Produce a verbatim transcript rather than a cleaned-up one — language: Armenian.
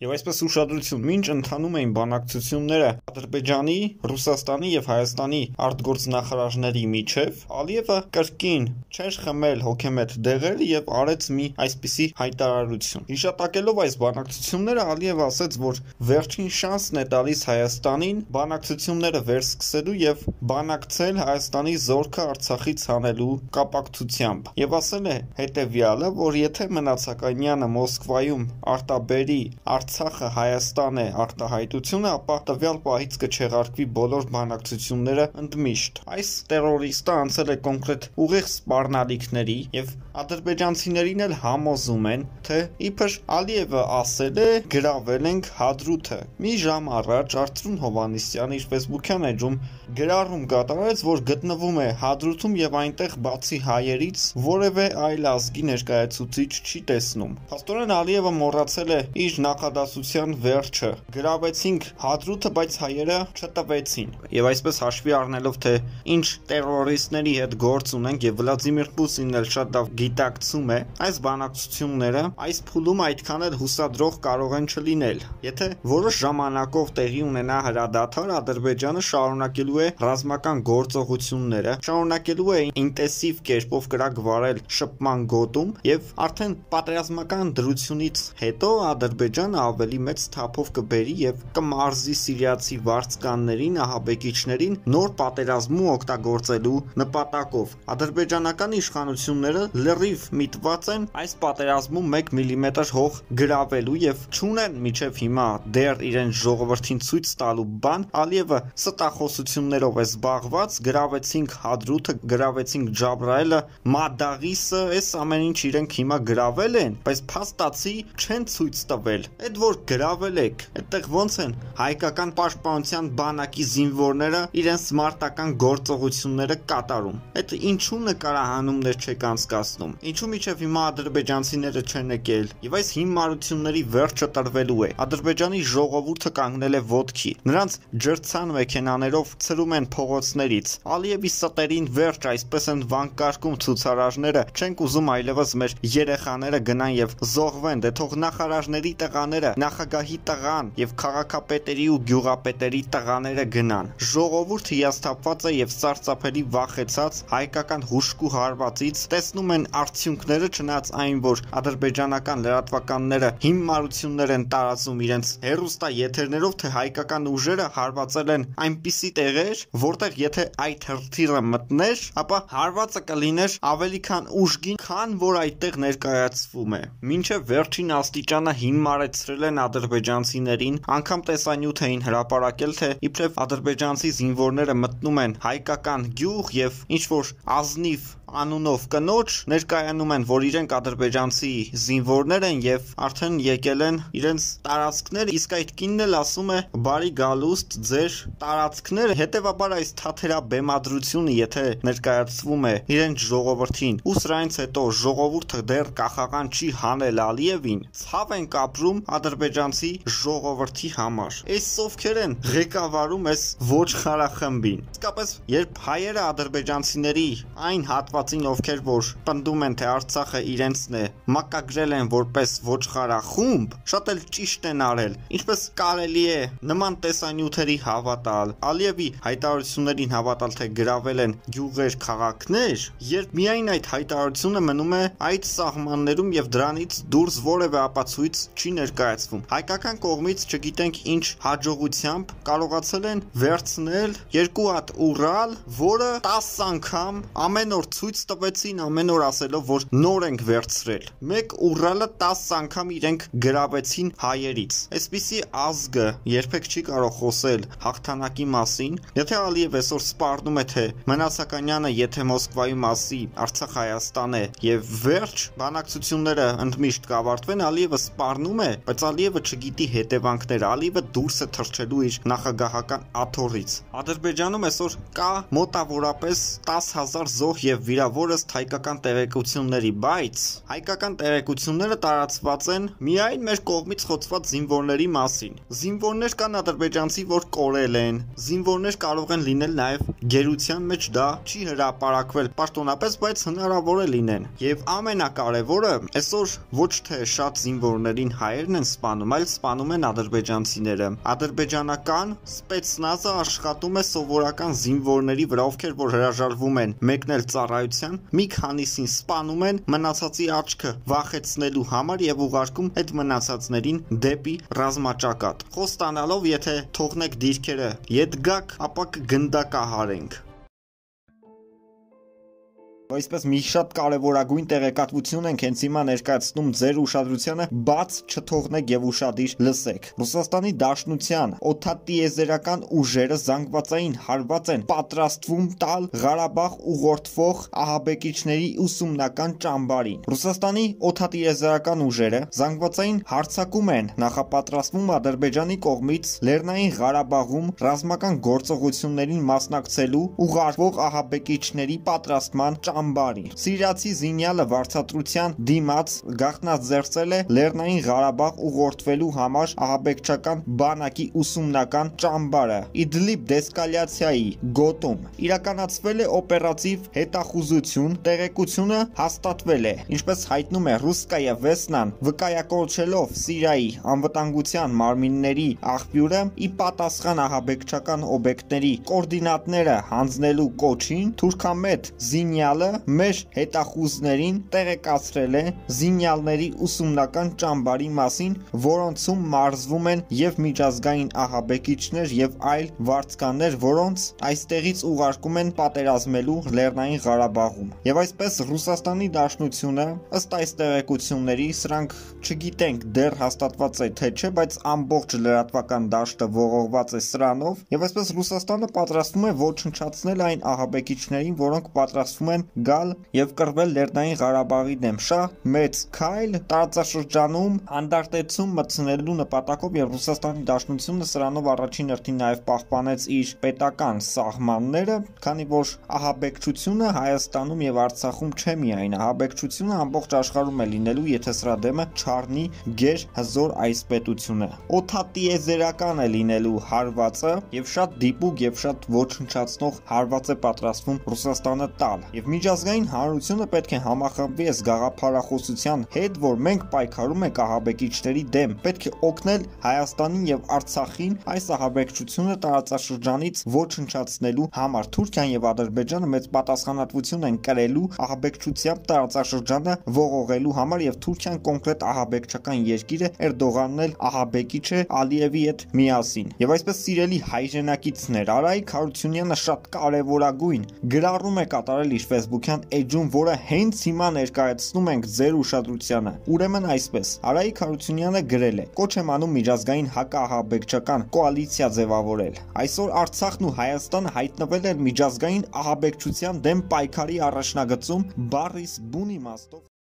Եվ այսպես ուշադրություն, մինչ ընթանում էին բանակցությունները Ադրբեջանի, Ռուսաստանի եւ Հայաստանի արտգործնախարարների միջև, Ալիևը կրկին չէր խմել հոգեմետ դեղերը եւ արեց մի այսպիսի հայտարարություն։ Հիշատակելով այս բանակցությունները, Ալիևը ասաց, որ վերջին շանսն է տալիս Հայաստանին բանակցությունները վերսկսելու եւ բանակցել Հայաստանի զորքը Արցախից հանելու կապակցությամբ։ Եվ ասել է հետեւյալը, որ եթե Մնացականյանը Մոսկվայում արտաբերի Արցախը Հայաստան է արտահայտությունը, ապա տվյալ պահից կչեղարկվի բոլոր բանակցությունները ընդմիշտ։ Այս տերորիստը անցել է կոնկրետ ուղիղ սպառնալիքների եւ ադրբեջանցիներին էլ համոզում են, թե իբր Ալիևը ասել է գրավել ենք Հադրութը։ Մի ժամ առաջ Արծրուն Հովհաննիսյանը իր ֆեյսբուքյան էջում գրառում կատարեց, որ գտնվում է Հադրութում եւ այնտեղ բացի հայերից որևէ այլ ազգի ներկայացուցիչ չի տեսնում։ Փաստորեն Ալիևը մոռացել է իր նախադասության վերջը։ Գրավեցինք Հադրութը, բայց հայերը չտվեցին։ Եվ այսպես հաշվի առնելով, թե ինչ տերորիստների հետ գործ ունենք եւ Վլադիմիր Պուտինն էլ շատ լավ գիտակցում է, այս բանակցությունները այս փուլում այդքան էլ հուսադրող կարող են չլինել։ Եթե որոշ ժամանակով տեղի ունենա հրադադար, Ադրբեջանը շարունակելու է ռազմական գործողությունները, շարունակելու է ինտենսիվ կերպով կրակ վարել շփման գոտում եւ արդեն պատերազմական դրությունից հետո Ադրբեջանը ավելի մեծ թափով կբերի եւ կմարզի սիրիացի վարձկաններին, ահաբեկիչներին նոր պատերազմում օգտագործելու նպատակով։ Ադրբեջանական իշխանությունները լրիվ միտված են այս պատերազմում մեկ միլիմետր հող գրավելու եւ չունեն միջև հիմա դեռ իրենց ժողովրդին ցույց տալու բան։ Ալիևը ստախոսություններով է զբաղված, գրավեցինք Հադրութը, գրավեցինք Ջաբրայելը, Մադաղիսը, այս ամեն ինչ իրենք հիմա գրավել են, բայց փաստացի չեն ցույց տվել։ Այդ որ գրավել եք, այդտեղ ոնց են հայկական պաշտպանության բանակի զինվորները իրենց մարտական գործողությունները կատարում։ Այդ ինչու նկարահանումներ չեք անցկացնում։ Ինչու միջև հիմա ադրբեջանցիները չեն եկել։ Եվ այս հիմարությունների վերջը տրվելու է։ Ադրբեջանի ժողովուրդը կանգնել է ոտքի։ Նրանց ջրցան մեքենաներով ցրում են փողոցներից։ Ալիևի ստերին վերջ, այսպես են վանկարկում ցուցարարները։ Չենք ուզում այլևս մեր երեխաները գնան եւ զոհվեն, դե թող նախարարների տղաները, նախագահի տղան եւ քաղաքապետերի ու գյուղապետերի տղաները գնան։ Ժողովուրդը հիասթափված է եւ սարսափելի վախեցած հայկական հուշկու հարվածից, տեսնում են արդյունքները, չնայած այն, որ ադրբեջանական լրատվականները հիմարություններ են տարածում իրենց հեռուստաեթերներով, թե հայկական ուժերը հարվածել են այնպիսի տեղեր, որտեղ եթե այդ հրթիռը մտներ, ապա հարվածը կլիներ ավելի քան ուժգին, քան որ այդտեղ ներկայացվում է։ Մինչև վերջին աստիճանը հիմարեցրել են ադրբեջանցիներին, անգամ տեսանյութ էին հրապարակել, թե իբրև ադրբեջանցի զինվորները մտնում են հայկական գյուղ եւ ինչ որ ազնիվ անունով կնոջ ներկայանում են, որ իրենք ադրբեջանցի զինվորներ են եւ արդեն եկել են իրենց տարածքներ, իսկ այդ կինն էլ ասում է բարի գալուստ ձեր տարածքները, հետեւաբար այս թաթերաբեմադրությունը եթե ներկայացվում է իրենց ժողովրդին, ու սրանից հետո ժողովուրդը դեռ կախաղան չի հանել Ալիևին, ցավ են կապրում ադրբեջանցի ժողովրդի համար։ Այս ովքեր են ղեկավարում այս ոչխարախմբին։ Իսկապես, երբ հայերը ադրբեջանցիների այն հատվածին, ովքեր որ պնդում են, թե Արցախը իրենցն է, մակագրել են որպես ոչխարախումբ, շատ էլ ճիշտ են արել։ Ինչպես կարելի է նման տեսանյութերի հավատալ, Ալիևի հայտարարություններին հավատալ, թե գրավել են գյուղեր, քաղաքներ, երբ միայն այդ հայտարարությունը մնում է այդ սահմաններում եւ դրանից դուրս որևէ ապացույց չի ներկայացվում։ Հայկական կողմից չգիտենք ինչ հաջողությամբ կարողացել են վերցնել երկու հատ Ուրալ, որը տասը անգամ ամեն օր ցույց տվեցին, ամեն օր ասելով, որ նոր ենք վերցրել։ Մեկ Ուրալը տասը անգամ իրենք գրավեցին հայերից։ Այսպիսի ազգը երբեք չի կարող խոսել հաղթանակի մասին։ Եթե Ալիև այսօր սպառնում է, թե Մնացականյանը եթե Մոսկվայում ասի Արցախ Հայաստան է եւ վերջ բանակցությունները ընդմիշտ կավարտվեն, Ալիևը սպառնում է, բայց Ալիևը չգիտի հետևանքները, Ալիևը դուրս է թռչելու իր նախագահական աթոռից։ Ադրբեջանում այսօր կա մոտավորապես տասը հազար զոհ եւ վիրավոր ըստ հայկական տեղեկությունների, բայց հայկական տեղեկությունները տարածված են միայն մեր կողմից խոցված զինվորների մասին։ Զինվորներ կան ադրբեջանցի, որ կորել են, զինվորներ կարող են լինել նաեւ գերության մեջ, դա չի հրապարակվել պաշտոնապես, բայց հնարավոր է լինեն։ Եվ ամենակարևորը, այսօր ոչ թե շատ զինվորներին հայերն են սպանում, այլ սպանում են ադրբեջանցիները։ Ադրբեջանական սպեցնազը աշխատում է սովորական զինվորների վրա, ովքեր որ հրաժարվում են մեկնել ծառայության, մի քանիսին սպանում են մնացածի աչքը վախեցնելու համար եւ ուղարկում այդ մնացածներին դեպի ռազմաճակատ։ Խոստանալով, եթե թողնեք դիրքերը ետ գաք, ապա կգնդակահարենք։ Այսպես մի շատ կարևորագույն տեղեկատվություն ենք հենց հիմա ներկայացնում ձեր ուշադրությանը, բաց չթողնեք եւ ուշադիր լսեք։ Ռուսաստանի Դաշնության օդատիեզերական ուժերը զանգվածային հարված են պատրաստվում տալ Ղարաբաղ ուղղորդվող ահաբեկիչների ուսումնական ճամբարին։ Ռուսաստանի օդատիեզերական ուժերը զանգվածային հարձակում են նախապատրաստվում Ադրբեջանի կողմից Լեռնային Ղարաբաղում ռազմական գործողություններին մասնակցելու ուղարկվող ահաբեկիչների պատրաստման ճամբարի։ Սիրիացի զինյալը վարձատրության դիմաց գաղտնաձեռցել է Լեռնային Ղարաբաղ ուղղորդվելու համար ահաբեկչական բանակի ուսումնական ճամբարը Իդլիբ դեսկալյացիայի գոտում։ Իրականացվել է օպերատիվ հետախուզություն, տեղեկությունը հաստատվել է, ինչպես հայտնում է Ռուսկայա Վեսնան, վկայակոչելով Սիրիայի անվտանգության մարմինների աղբյուրը, ի պատասխան ահաբեկչական օբյեկտների կոորդինատները հանձնելու կոչին, թուրքամետ զինյալը մեր հետախուզներին տեղեկացրել է զինյալների ուսումնական ճամբարի մասին, որոնցում մարզվում են եւ միջազգային ահաբեկիչներ եւ այլ վարձկաններ, որոնց այստեղից ուղարկում են պատերազմելու Լեռնային Ղարաբաղում։ Եւ այսպես Ռուսաստանի Դաշնությունը, ըստ այս տեղեկությունների, սրանք չգիտենք դեռ հաստատված է թե չէ, բայց ամբողջ լրատվական դաշտը ողողված է սրանով, եւ այսպես Ռուսաստանը պատրաստվում է ոչնչացնել այն ահաբեկիչներին, որոնք պատրաստվում են գալ եւ կռվել Լեռնային Ղարաբաղի դեմ։ Շատ մեծ քայլ տարածաշրջանում անդարտեցում մտցնելու նպատակով, եւ Ռուսաստանի Դաշնությունը սրանով առաջին հերթին նաեւ պահպանեց իր պետական սահմանները, քանի որ ահաբեկչությունը Հայաստանում եւ Արցախում չէ միայն, ահաբեկչությունը ամբողջ աշխարհում է լինելու, եթե սրա դեմը չառնի գեր հզոր այս պետությունը։ Օդատիեզերական է լինելու հարվածը եւ շատ դիպուկ եւ շատ ոչնչացնող հարված է պատրաստվում Ռուսաստանը տալ։ Եվ միջազգային հանրությունը պետք է համախմբվի այս գաղափարախոսության հետ, որ մենք պայքարում ենք ահաբեկիչների դեմ, պետք է օգնել Հայաստանին եւ Արցախին այս ահաբեկչությունը տարածաշրջանից ոչնչացնելու համար։ Թուրքիան եւ Ադրբեջանը մեծ պատասխանատվություն են կրելու ահաբեկչությամբ տարածաշրջանը ողողելու համար, եւ Թուրքիան կոնկրետ ահաբեկչական երկիր է, Էրդողանն էլ ահաբեկիչ է Ալիևի հետ միասին։ Եվ այսպես սիրելի հայրենակիցներ, Արայիկ Հարությունյանը շատ կարևորագույն գրառում է կատարել իր Facebook-յան էջում, որը հենց հիմա ներկայացնում ենք ձեր ուշադրությանը։ Ուրեմն այսպես, Արայիկ Հարությունյանը գրել է. «Կոչ եմ անում միջազգային հակաահաբեկչական կոալիցիա ձևավորել։ Այսօր Արցախն ու Հայաստանը հայտնվել են միջազգային ահաբեկչության դեմ պայքարի առաջնագծում բառիս բուն իմաստով»։